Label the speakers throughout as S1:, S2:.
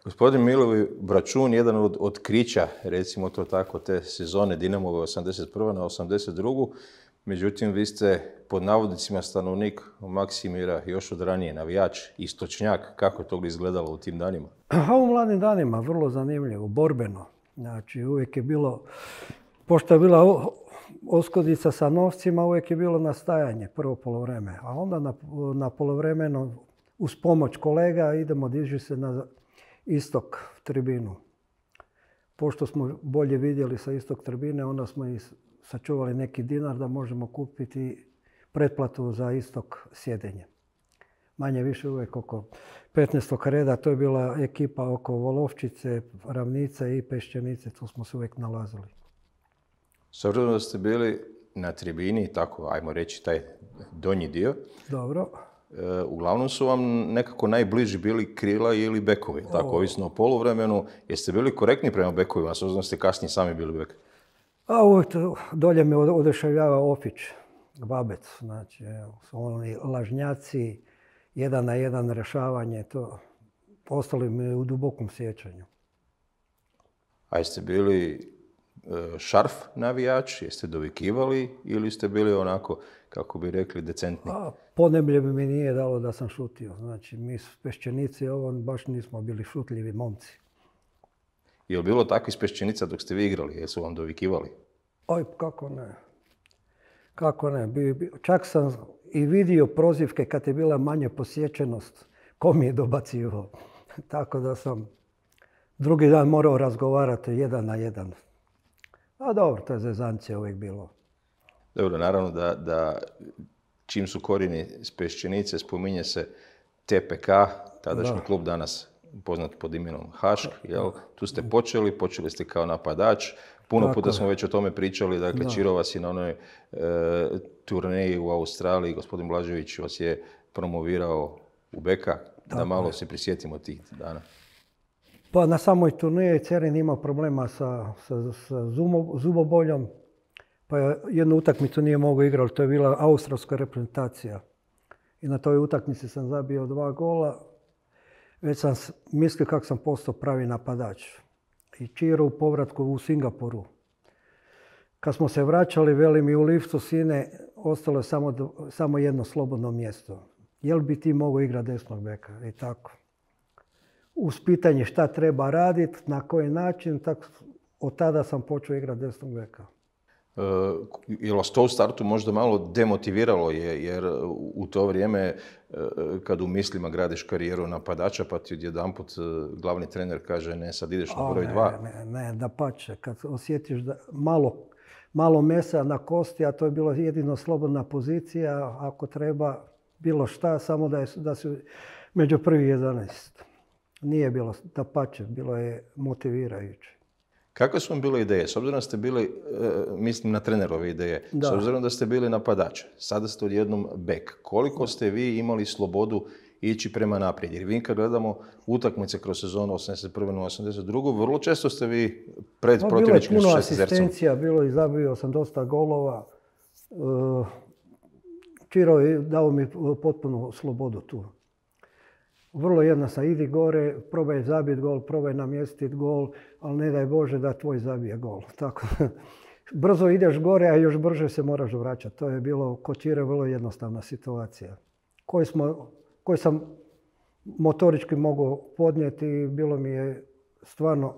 S1: Gospodin Milo Bračun, jedan od otkrića, recimo to tako, te sezone Dinamove 81. na 82. Međutim, vi ste pod navodnicima stanovnik Maksimira još od ranije, navijač, istočnjak. Kako je to izgledalo u tim danima?
S2: U mladim danima, vrlo zanimljivo, borbeno. Znači, uvijek je bilo, pošto je bila oskodica sa novcima, uvijek je bilo nastajanje, prvo polovreme. A onda na polovremeno, uz pomoć kolega, idemo diži se na istok tribinu. Pošto smo bolje vidjeli sa istok tribine, onda smo i sačuvali neki dinar da možemo kupiti pretplatu za istok sjedenje. Manje više uvijek oko 15. reda, to je bila ekipa oko Volovčice, Ravnice i Pešćenice, tu smo se uvijek nalazili.
S1: S obzirom da ste bili na tribini, tako, ajmo reći, taj donji dio.
S2: Dobro.
S1: Uglavnom su vam nekako najbliži bili krila ili bekovi, tako, ovisno o poluvremenu. Jeste bili korektni prema bekovima, s obzirom da ste kasnije sami bili bek?
S2: A uvijek dolje me oduševljava Ofić, Babec, znači, su oni lažnjaci, 1-1 rješavanje, to ostali mi u dubokom sjećanju.
S1: A jeste bili šarf navijač, jeste dovikivali ili ste bili onako, kako bi rekli, decentni?
S2: Poneblje mi nije dalo da sam šutio. Znači, mi Pešćenici baš nismo bili šutljivi momci.
S1: Je li bilo takvih Pešćenica dok ste vi igrali? Jesu vam dovikivali?
S2: Oj, kako ne. Kako ne. Čak sam i vidio prozivke kad je bila manja posjećenost. Ko mi je dobacivao? Tako da sam drugi dan morao razgovarati 1-1. A dobro, to je zezancija uvijek bilo.
S1: Dobro, naravno da čim su korijeni s Pešćenice, spominje se TPK, tadašnji klub danas poznat pod imenom Hašk. Tu ste počeli ste kao napadač. Puno puta smo već o tome pričali, dakle Čiro vas je na onoj turneji u Australiji, gospodin Blažević vas je promovirao u beka, da malo se prisjetimo tih dana.
S2: Pa na samoj turneji Cerin imao problema sa zuboboljom, pa jednu utakmicu nije mogao igrati, to je bila australska reprezentacija. I na toj utakmici sam zabio 2 gola, već sam mislio kako sam postao pravi napadač. I Čiro u povratku u Singapuru. Kad smo se vraćali, veli mi u liftu, sine, ostalo je samo jedno slobodno mjesto. Jel bi ti mogao igrati desnog beka? I tako. Uz pitanje šta treba raditi, na koji način, tako od tada sam počeo igrati desnog beka.
S1: Je li vas to u startu možda malo demotiviralo, jer u to vrijeme kad u mislima gradiš karijeru napadača pa ti odjedanput glavni trener kaže ne, sad ideš na broj 2?
S2: Ne, dapače. Kad osjetiš da malo mesa na kosti, a to je bilo jedino slobodna pozicija, ako treba bilo šta, samo da si među prvi 11. Nije bilo, dapače, bilo je motivirajuće.
S1: Kakve su vam bile ideje? S obzirom da ste bili, mislim na trenerove ideje, s obzirom da ste bili napadač, sada ste odjednom bek. Koliko ste vi imali slobodu ići prema naprijed? Jer vi kad gledamo utakmice kroz sezonu 81. na 82. vrlo često ste vi pred protivničkim šesticom.
S2: Bilo je puno asistencija, i zabio sam dosta golova. Čiro je dao mi potpunu slobodu tu. Vrlo jednostavno, idi gore, probaj zabiti gol, probaj namjestiti gol, ali ne daj Bože da tvoj zabije gol. Tako. Brzo ideš gore, a još brže se moraš vraćati. To je bilo kod Čire vrlo jednostavna situacija. Koju sam motorički mogao podnijeti i bilo mi je stvarno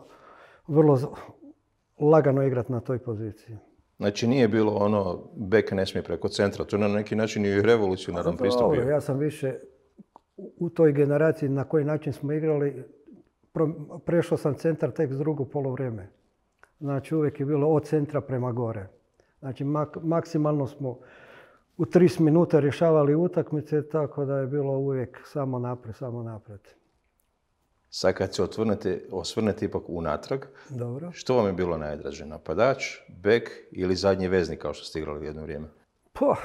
S2: vrlo lagano igrati na toj poziciji.
S1: Znači nije bilo ono bek ne smije preko centra, to je na neki način i revolucionaran pristup bio.
S2: Ja sam više u toj generaciji na koji način smo igrali, prešao sam centar tek s drugo polovreme. Znači uvijek je bilo od centra prema gore. Znači maksimalno smo u 30 minuta rješavali utakmice, tako da je bilo uvijek samo naprijed.
S1: Sad kad se osvrnete ipak unatrag,
S2: dobro.
S1: Što vam je bilo najdraže? Napadač, bek ili zadnji veznik kao što ste igrali jedno vrijeme?
S2: Pa,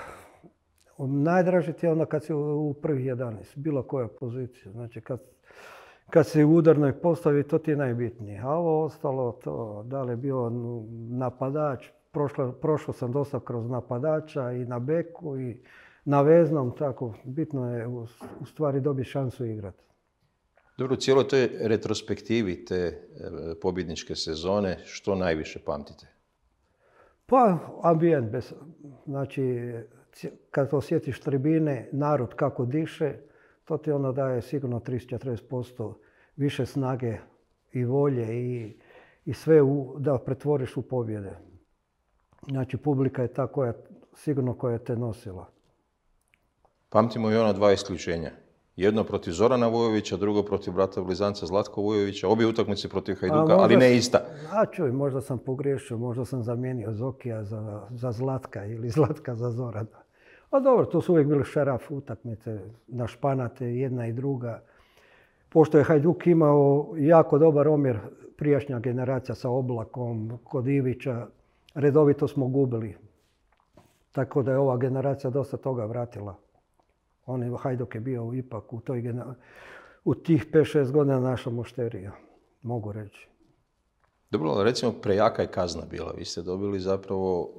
S2: najdraže ti je onda kad si u prvih 11, bilo koja pozicija. Znači kad si u udarnoj postavi, to ti je najbitnije. A ovo ostalo, to da li je bio napadač, prošao sam dosta kroz napadača i na beku i na veznom, tako bitno je u stvari dobiti šansu igrati.
S1: Dobro, u cijeloj toj retrospektivi te pobjedničke sezone, što najviše pamtite?
S2: Pa, ambijent. Znači, kad osjetiš tribine, narod kako diše, to ti onda daje sigurno 30-40% više snage i volje i sve da pretvoriš u pobjede. Znači, publika je ta sigurno koja te nosila.
S1: Pamtimo i ona dva isključenja. Jedno protiv Zorana Vujovića, drugo protiv brata blizanca Zlatka Vujovića. Obje utakmice protiv Hajduka, ali ne ista.
S2: Čuj, možda sam pogriješio, možda sam zamijenio Zokija za Zlatka ili Zlatka za Zorana. A dobro, to su uvijek bili šeraf utakmice, na španate, jedna i druga. Pošto je Hajduk imao jako dobar omjer, prijašnja generacija sa Oblakom, kod Ivića, redovito smo gubili. Tako da je ova generacija dosta toga vratila. Hajduk je bio ipak u tih 5-6 godina naša mušterija, mogu reći.
S1: Dobro, recimo prejaka je kazna bila. Vi ste dobili zapravo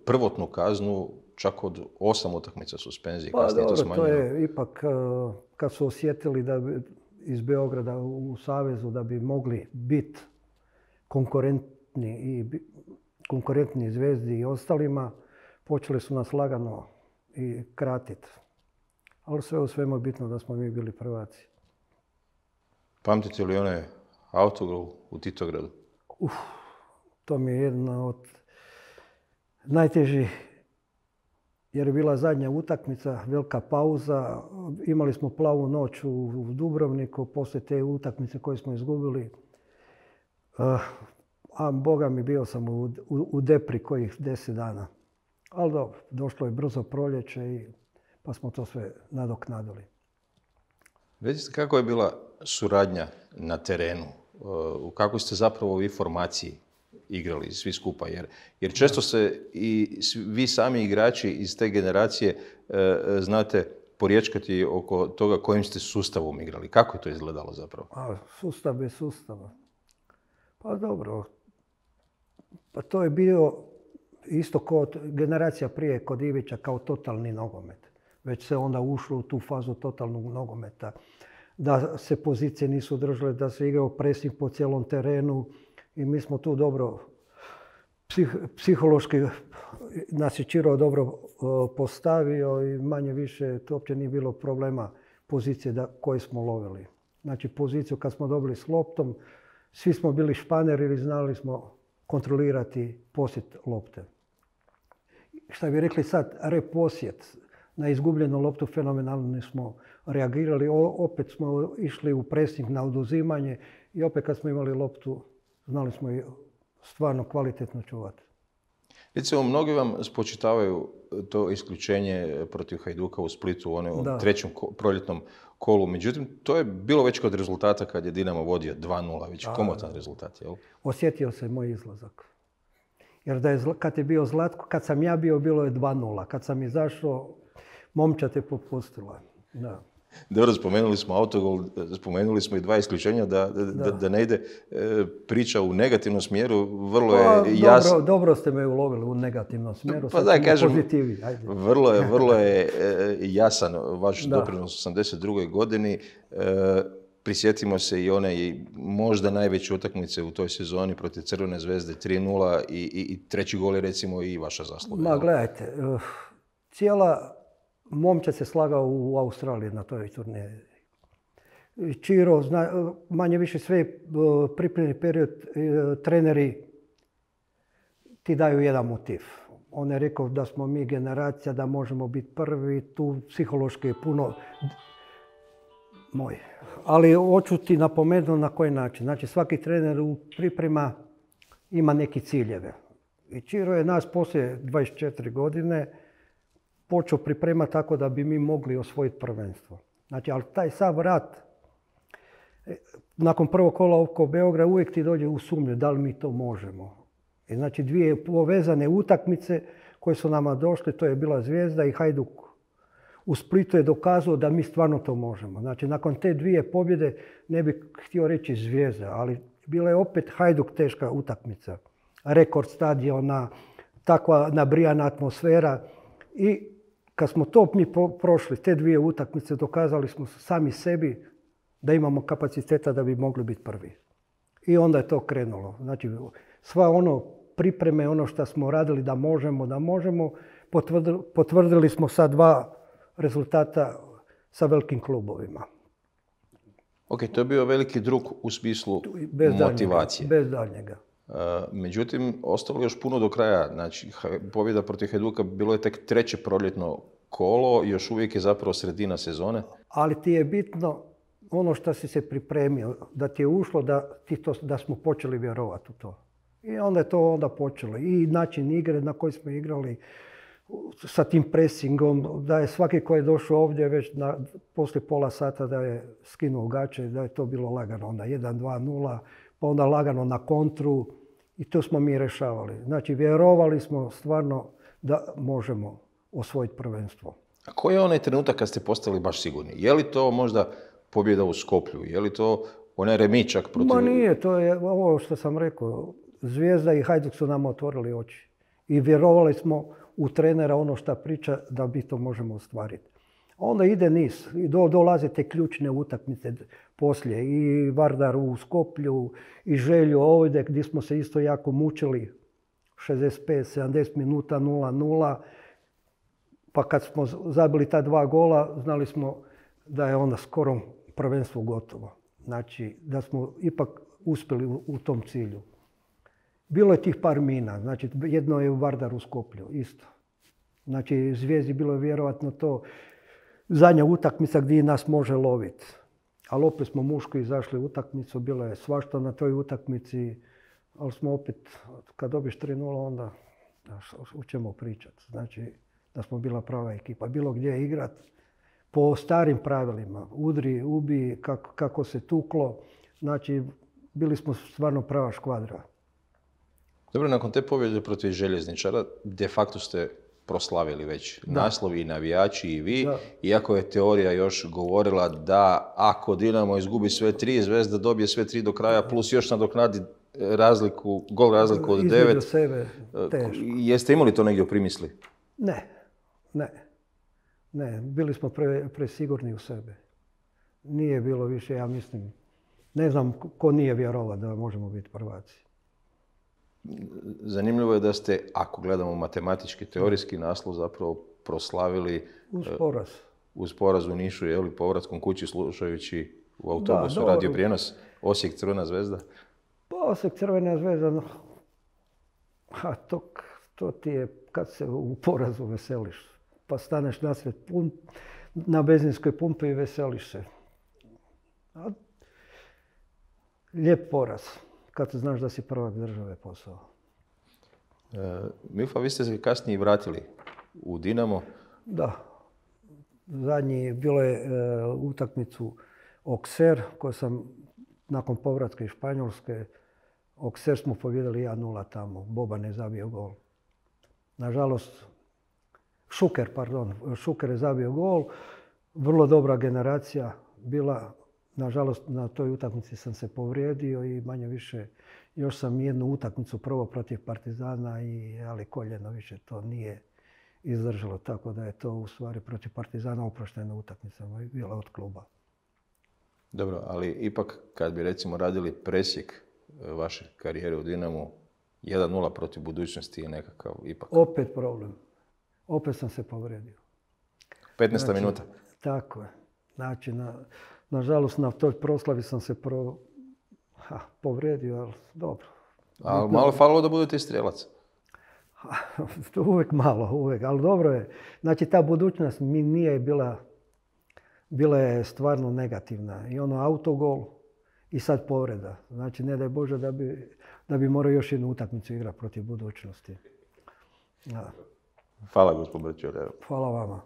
S1: prvotnu kaznu čak od 8 utakmica suspenzije.
S2: Pa dobro, to je ipak kad su osjetili da iz Beograda u Savezu da bi mogli biti konkurentni Zvezdi i ostalima, počeli su nas lagano i kratiti. Ali sve u svemu je bitno da smo mi bili prvaci.
S1: Pamtite li onaj autogol u Titogradu?
S2: To mi je jedna od najtežih, jer je bila zadnja utakmica, velika pauza. Imali smo plavu noć u Dubrovniku poslije te utakmice koje smo izgubili. A boga mi, bio sam u depri kojih 10 dana. Ali dobro, došlo je brzo proljeće pa smo to sve nadoknadili.
S1: Recite, kako je bila suradnja na terenu? U kakvoj ste zapravo vi formaciji igrali svi skupa? Jer često se i vi sami igrači iz te generacije znate porječkati oko toga kojim ste sustavom igrali. Kako je to izgledalo zapravo?
S2: Sustav bez sustava. Pa dobro. Pa to je bio isto kod generacija prije kod Ivića kao totalni nogomet. Već se onda ušlo u tu fazu totalnog nogometa. Da se pozicije nisu držale, da se igrao presing po cijelom terenu i mi smo tu dobro, psihološki nas je Čiro dobro postavio i manje više to uopće nije bilo problema pozicije koje smo lovili. Znači poziciju kad smo dobili s loptom, svi smo bili španeri ili znali smo kontrolirati posjet lopte. Šta bi rekli sad, reposjet. Na izgubljenu loptu fenomenalno smo reagirali, opet smo išli u presing na oduzimanje i opet kad smo imali loptu znali smo i stvarno kvalitetno čuvati.
S1: Recimo, mnogi vam spočitavaju to isključenje protiv Hajduka u Splitu u trećem proljetnom kolu. Međutim, to je bilo već kod rezultata kad je Dinamo vodio 2:0, već komotan rezultat, jel?
S2: Osjetio se moj izlazak. Jer kad je bio Zlatko, kad sam ja bio, bilo je 2:0. Kad sam izašao, momčad je popustila. Da.
S1: Dobro, spomenuli smo autogol, spomenuli smo i 2 isključenja, da ne ide priča u negativnom smjeru, vrlo je jasno.
S2: Dobro ste me ulovili u negativnom smjeru,
S1: pa da, kažem, pozitivi. Vrlo je jasan vaš doprinos u 82. godini. Prisjetimo se i one možda najveće utakmice u toj sezoni protiv Crvene zvezde 3:0 i treći gol je recimo i vaša zasluga.
S2: Gledajte, cijela momčad se slagao u Australiji na toj turneji. Čiro, manje više sve pripremni period, treneri ti daju jedan motiv. On je rekao da smo mi generacija, da možemo biti prvi, tu psihološki je puno moj. Ali hoću ti napomenuti na koji način. Znači svaki trener u priprema ima neki ciljeve. I Čiro je nas poslije 24 godine počeo pripremati tako da bi mi mogli osvojiti prvenstvo. Znači, ali taj sav rat, nakon prvog kola oko Beograda, uvijek ti dođe u sumnju da li mi to možemo. I znači, 2 povezane utakmice koje su nama došle, to je bila Zvijezda i Hajduk. U Splitu je dokazao da mi stvarno to možemo. Znači, nakon te 2 pobjede, ne bih htio reći Zvijezda, ali bila je opet Hajduk teška utakmica. Rekord stadiona, takva nabrijana atmosfera i kad smo to mi prošli, te 2 utakmice, dokazali smo sami sebi da imamo kapaciteta da bi mogli biti prvi. I onda je to krenulo. Znači, sva ono pripreme, ono što smo radili da možemo, potvrdili smo sa 2 rezultata sa velikim klubovima.
S1: Ok, to je bio veliki drug u smislu motivacije.
S2: Bez daljnjega.
S1: Međutim, ostalo još puno do kraja. Znači, pobjeda protiv Hajduka bilo je tek 3. proljetno kolo, još uvijek je zapravo sredina sezone.
S2: Ali ti je bitno ono što si se pripremio, da ti je ušlo, da smo počeli vjerovati u to. I onda je to onda počelo. I način igre na koji smo igrali, sa tim presingom, da je svaki koji je došao ovdje već poslije pola sata da je skinuo gače, da je to bilo lagano. Onda 1-2-0, pa onda lagano na kontru i to smo mi rješavali. Znači, vjerovali smo stvarno da možemo osvojiti prvenstvo.
S1: A koji je onaj trenutak kad ste postali baš sigurni? Je li to možda pobjeda u Skoplju? Je li to onaj remičak protiv...
S2: Ma nije, to je ovo što sam rekao. Zvijezda i Hajduk su nam otvorili oči. I vjerovali smo u trenera ono što priča da mi to možemo ostvariti. Onda ide niz i dolaze te ključne utakmice poslije. I Vardar u Skoplju, i Želju ovdje gdje smo se isto jako mučili. 65-70 minuta 0-0. Pa kad smo zabili ta 2 gola, znali smo da je onda skoro prvenstvo gotovo. Znači, da smo ipak uspjeli u tom cilju. Bilo je tih par mina. Znači, jedno je u Vardaru u Skoplju, isto. Znači, Zvijezdi bilo je vjerovatno to zadnja utakmica gdje nas može loviti. Ali opet smo muško izašli u utakmicu, bilo je svašta na toj utakmici, ali smo opet, kad dobiš 3-0, onda u čemu pričati. Znači, da smo bila prava ekipa. Bilo gdje igrati po starim pravilima. Udri, ubi, kako se tuklo. Znači, bili smo stvarno prava škvadra.
S1: Dobro, nakon te pobjede protiv Željezničara, de facto ste proslavili već naslovi i navijači i vi, iako je teorija još govorila da ako Dinamo izgubi sve 3, Zvezda dobije sve 3 do kraja, plus još nadoknadi gol razliku od 9.
S2: Između sebe, teško.
S1: Jeste imali to negdje u primisli?
S2: Ne. Bili smo presigurni u sebe. Nije bilo više, ja mislim, ne znam ko nije vjerovao da možemo biti prvaci.
S1: Zanimljivo je da ste, ako gledamo matematički, teorijski naslov zapravo proslavili uz poraz u Nišu, je li, povratkom kući slušajući u autobusu radio prijenos Osijek Crvena Zvezda?
S2: Pa Osijek Crvena Zvezda, to ti je kad se u porazu veseliš. Pa staneš nasred na benzinskoj pumpi i veseliš se. Lijep poraz. Kad znaš da si prvak države posao.
S1: Milfa, vi ste se kasnije vratili u Dinamo.
S2: Da. Zadnji bilo je utakmicu Okser, koju sam nakon povratka iz Španjolske, Okser smo pobjedili 1-0 tamo. Boban je zabio gol. Nažalost, Šuker je zabio gol. Vrlo dobra generacija bila. Nažalost, na toj utakmici sam se povrijedio i manje više još sam jednu utakmicu prvo protiv Partizana, ali koljeno više to nije izdržalo. Tako da je to u stvari protiv Partizana oproštena utakmica bila od kluba.
S1: Dobro, ali ipak kad bi recimo radili presjek vaše karijere u Dinamu, 1-0 protiv Budućnosti je nekakav ipak...
S2: Opet problem. Opet sam se povrijedio.
S1: 15. minuta.
S2: Tako je. Znači, nažalost, na toj proslavi sam se povrijedio, ali dobro.
S1: Ali malo falilo da budete i strijelac.
S2: Uvijek malo, ali dobro je. Znači, ta budućnost mi nije bila je stvarno negativna. I ono autogol i sad povreda. Znači, ne daj Bože da bi morao još jednu utakmicu igrati protiv Budućnosti.
S1: Hvala, gospod Brčer.
S2: Hvala vama.